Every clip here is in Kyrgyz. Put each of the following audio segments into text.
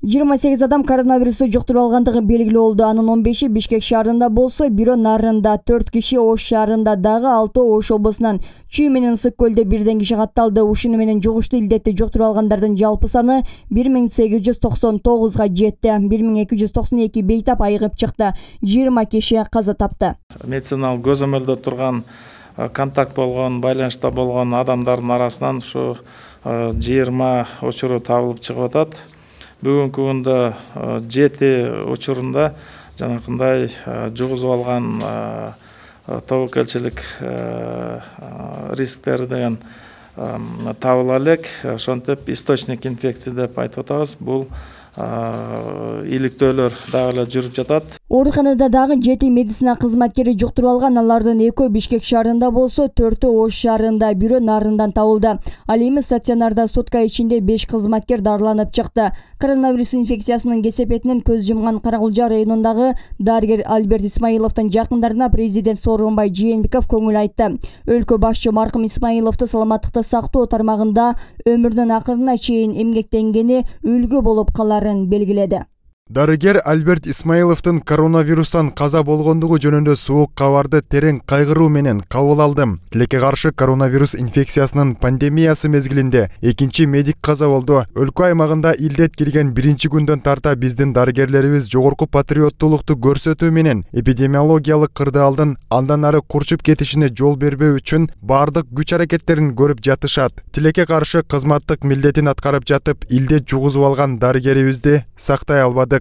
28 адам коронавирусту жуктуруп алгандыгы белгилүү болду. Анын 15-и Бишкек шаарында болсо, бирөө Нарында, 4 киши Ош шаарында, дагы 6 Ош облусунан, Чүй менен Ысык көлдө бирден киши катталды. Ушуну менен жугуштуу илдетти жуктуруп алгандардын жалпы саны 1899 жетти. 1292 бейтап айыгып чыкты. 20 киши каза тапты. Медициналык көзөмөлдө турган контакт болгон, байланышта болгон адамдардын арасынан ушу 20 учуру табылып чыгып атат. Бүгүнкү күндө 7 учурунда жанакындай жугузуп алган тобокелчилик рисктери деген табыла элек. Ошентип источник инфекции деп айтып атабыз. Бул иликтөөлөр дагы эле жүрүп жатат. Ооруканада дагы 7 медицина кызматкери жуктуруп алган. Алардын 2 Бишкек шаарында болсо, 4 Ош шаарында, бирөө Нарындан табылды. Ал эми стационарда сутка ичинде 5 кызматкер дарыланып чыкты. Коронавирус инфекциясынын кесепетинен көз жумган Каракулжа районундагы дарыгер Альберт Исмаиловдун жакындарына президент Сооронбай Жээнбеков көңүл айтты. Өлкө башчы маркум Исмаиловду саламаттыкты сактоо тармагында өмүрүнүн акырына чейин эмгектенгени үлгү болуп каларын белгиледи. Дарыгер Альберт Исмаиловдун коронавирустан каза болгондугу жөнүндө суук кабарды терең кайгыруу менен кабыл алдым. Тилекке каршы коронавирус инфекциясынын пандемиясы мезгилинде 2 медик каза болду. Өлкө аймагында илдет кирген 1 күндөн тарта биздин дарыгерлерибиз жогорку патриоттуулукту көрсөтүү менен эпидемиологиялык кырдаалдын андан ары курчуп кетишине жол бербөө үчүн бардык күч аракеттерин көрүп жатышат. Тилекке каршы кызматтык милдетин аткарып жатып, илдет жугузуп алган дарыгерибизди сактай албады.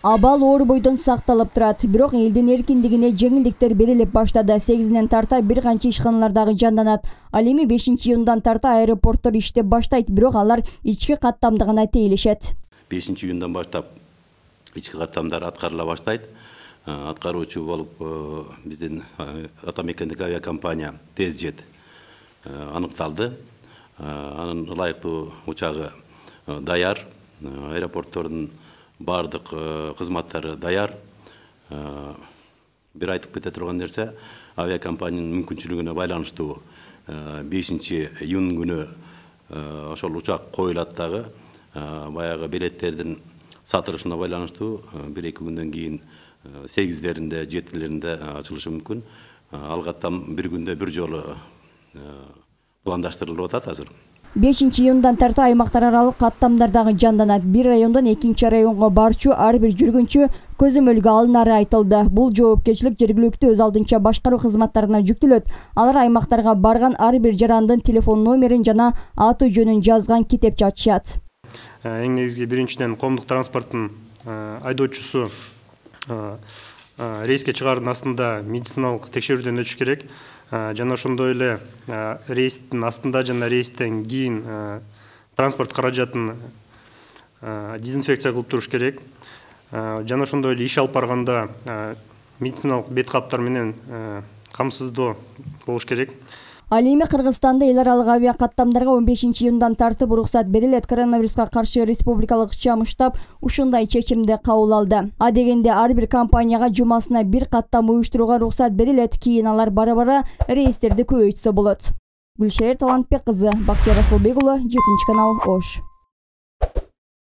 Абал оор бойдон сакталып турат, бирок элдин эркиндигине жеңилдиктер берилип баштады. 8-ден тарта бир канча ишканалардагы жанданат. Ал эми 5-июндан тарта аэропорттор иштеп баштайт, бирок алар ички каттамда гана тейлешет. 5-июндан баштап ички каттамдар аткарыла баштайт. Аткаруучу болуп биздин атамекендик авиакомпания TezJet аныкталды. Анын ылайыктуу учагы даяр, аэропорттордун бардык кызматтары даяр. Бир айтып кете турган нерсе, авиакомпаниянын мүмкүнчүлүгүнө байланыштуу 5-июнь күнү ошол учак коюлат дагы. Баягы билеттердин сатылышына байланыштуу 1-2 күндөн кийин 8-деринде, 7-леринде ачылышы мүмкүн. Ал каттам бир күндө бир жолу пландаштырылып атат азыр. 5-июндан тарта аймактар аралык каттамдардагы жанданат. Бир райондон экинчи районго барчу ар бир жүргүнчү көзөмөлгө алынары айтылды. Бул жоопкерчилик жергиликтүү өз алдынча башкаруу кызматтарына жүктөлөт. Алар аймактарга барган ар бир жарандын телефон номерин жана аты жөнүн жазган китепче ачышат. Эң негизги биринчиден коомдук транспорттун айдоочусу рейске чыгаардын астында медициналык текшерүүдөн өтүш керек. Жана ошондой эле рейстин астында жана рейстен кийин транспорт каражатын дезинфекция кылып туруш керек. Жана ошондой эле иш алып барганда медициналык бет каптар менен камсыздоо болуш керек. Ал эми Кыргызстанда эл аралык авиа каттамдарга 15-июндан тартып уруксат берилет. Коронавируска каршы республикалык ыкчам штаб ушундай чечимди кабыл алды. А дегенде ар бир компанияга жумасына бир каттам уюштурууга уруксат берилет. Кийин алар бара-бара рейстерди көбөйтсө болот. Гүлшер Талантбек кызы, Бактияр Асылбек уулу, 7 канал, Ош.